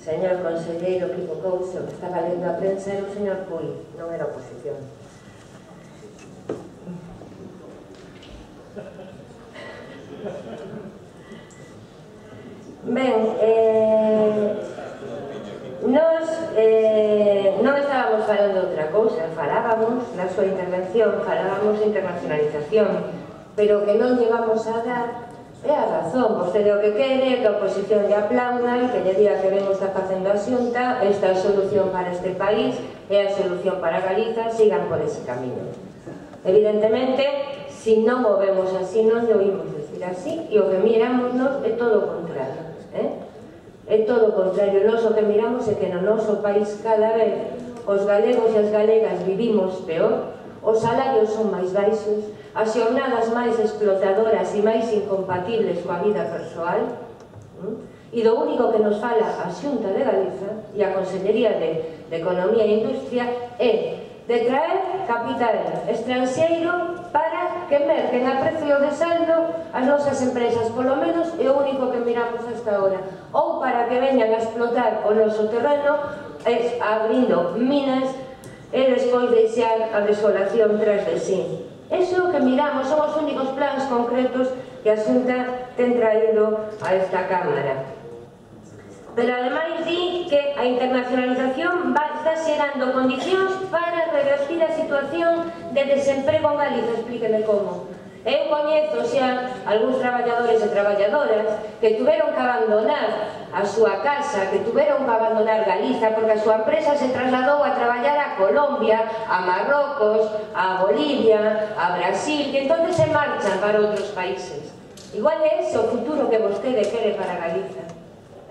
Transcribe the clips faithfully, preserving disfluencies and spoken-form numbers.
señor conselleiro equivocouse, o que estaba lendo a prensa era o señor Puig, non era oposición. Ben, eh, nos eh, non estábamos falando de outra cousa, falábamos na súa intervención, falábamos de internacionalización, pero que non llevamos a dar é a razón. Vostede o que quere é que a oposición lle aplauda e que lle diga que ben está facendo a Xunta, esta é a solución para este país, é a solución para Galiza, sigan por ese camino. Evidentemente, se non o vemos así, non lle oímos decir así, e o que miramos nos é todo o contrario. Eh? É todo o contrario, nós o que miramos é que no noso país cada vez os galegos e as galegas vivimos peor, os salarios son máis baixos, as xornadas máis explotadoras e máis incompatibles coa vida persoal, e do único que nos fala a Xunta de Galiza e a Consellería de, de Economía e Industria é de traer capital estranxeiro para que merquen a precio de saldo as nosas empresas, polo menos é o único que miramos hasta ahora, ou para que veñan a explotar o noso terreno es, abrindo minas e despois deixar a desolación tras de sí. Eso é o que miramos, son os únicos plans concretos que a Xunta ten traído a esta Cámara. Pero ademais di que a internacionalización está xerando condicións para revertir a situación de desemprego en Galiza. Explíqueme como. Eu coñezo xa algúns traballadores e traballadoras que tuveron que abandonar a súa casa, que tuveron que abandonar Galiza porque a súa empresa se trasladou a traballar a Colombia, a Marrocos, a Bolivia, a Brasil, que entón se marchan para outros países. Igual é ese o futuro que vostede quere para Galiza.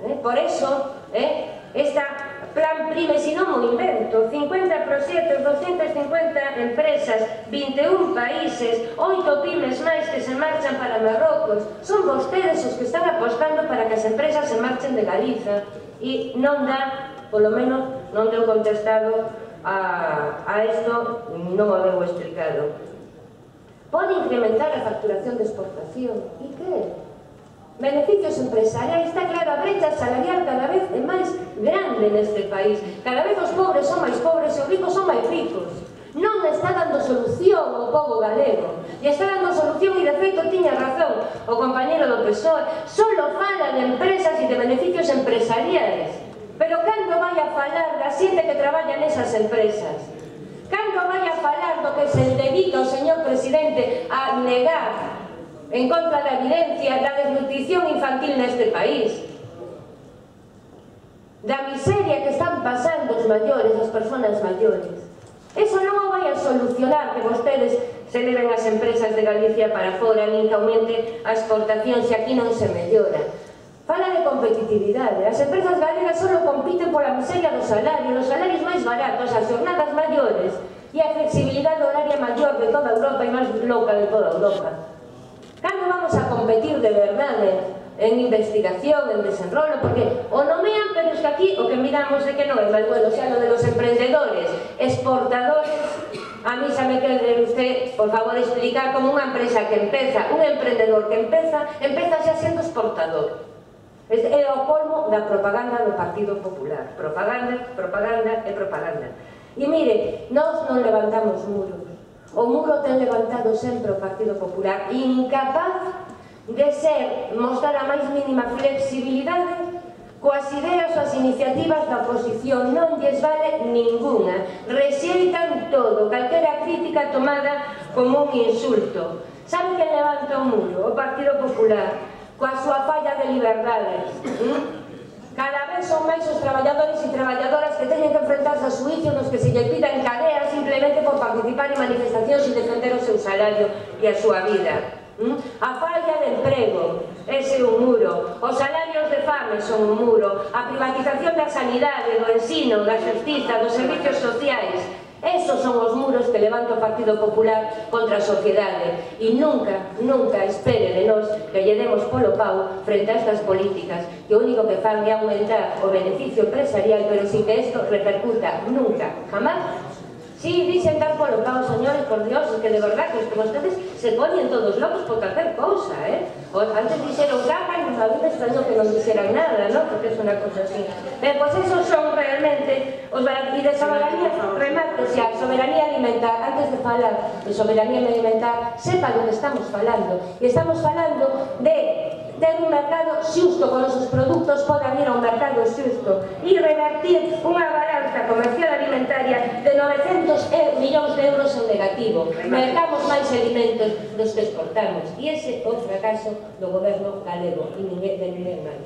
Eh? Por eso, eh, esta plan PRIME, si non mo invento, cincuenta proxectos, doscientas cincuenta empresas, vinte e un países, oito pymes máis que se marchan para Marrocos, son vostedes os que están apostando para que as empresas se marchen de Galiza e non dá, polo menos non deu contestado a, a isto, non o deu explicado. Pode incrementar a facturación de exportación, e que? Beneficios empresariais, está claro, a brecha salarial cada vez é máis grande neste país. Cada vez os pobres son máis pobres e os ricos son máis ricos. Non está dando solución ao pobo galego. E está dando solución, e de feito tiña razón o compañero do P S O E. Solo fala de empresas e de beneficios empresariais. Pero cando vai a falar da xente que traballa nesas empresas? Cando vai a falar do que se dedica o señor presidente a negar en contra da evidencia da desnutrición infantil neste país, da miseria que están pasando os maiores, as persoas maiores? Eso non o vai a solucionar que vostedes se leven as empresas de Galicia para fora, nin que aumente a exportación se aquí non se mellora. Fala de competitividade. As empresas galegas só compiten pola miseria do salario, os salarios máis baratos, as xornadas maiores e a flexibilidade horaria maior de toda Europa e máis louca de toda Europa. Cando vamos a competir de verdade en investigación, en desenrolo? Porque o nomean, pero es que aquí o que miramos é que non é máis bueno, xa lo de los emprendedores, exportadores. A mí xa me quere usted, por favor, explicar como unha empresa que empeza, un emprendedor que empeza, empeza xa sendo exportador. É o colmo da propaganda do Partido Popular. Propaganda, propaganda e propaganda. E mire, nós non levantamos muros. O muro ten levantado sempre o Partido Popular, incapaz de ser, mostrar a máis mínima flexibilidade coas ideas ou as iniciativas da oposición. Non lles vale ninguna, rexeitan todo, calquera crítica tomada como un insulto. Sabe quen levanta o muro? O Partido Popular, coa súa falla de liberdades. Cada vez son máis os traballadores e traballadoras que teñen que enfrentarse a suício nos que se lle pidan cadea simplemente por participar en manifestacións e defender o seu salario e a súa vida. A falla de emprego, ese é un muro. Os salarios de fame son un muro. A privatización da sanidade, do ensino, da xustiza, dos servicios sociais. Esos son os muros que levanta o Partido Popular contra a sociedade. E nunca, nunca espere de nós que lle demos polo pau frente a estas políticas que o único que fan é aumentar o beneficio empresarial, pero sin que isto repercuta nunca, jamás. Si, dixen dar polo pau, señores, por Dios, que de verdad que vostedes se ponen todos locos por calquer cousa, eh? Antes dixeron cagan a veces extraño que non dixeran nada, ¿no? Porque es unha cosa así. Ben, pois esos son realmente os e de soberanía, remate, xa, soberanía alimentar, antes de falar de soberanía alimentar, sepa do que estamos falando. E estamos falando de ter un mercado xusto con os seus produtos podan ir a un mercado xusto e revertir unha balanza comercial alimentaria de novecentos millóns de euros en negativo. Mercamos máis alimentos dos que exportamos e ese é o fracaso do goberno galego e ninguén de ninguén máis.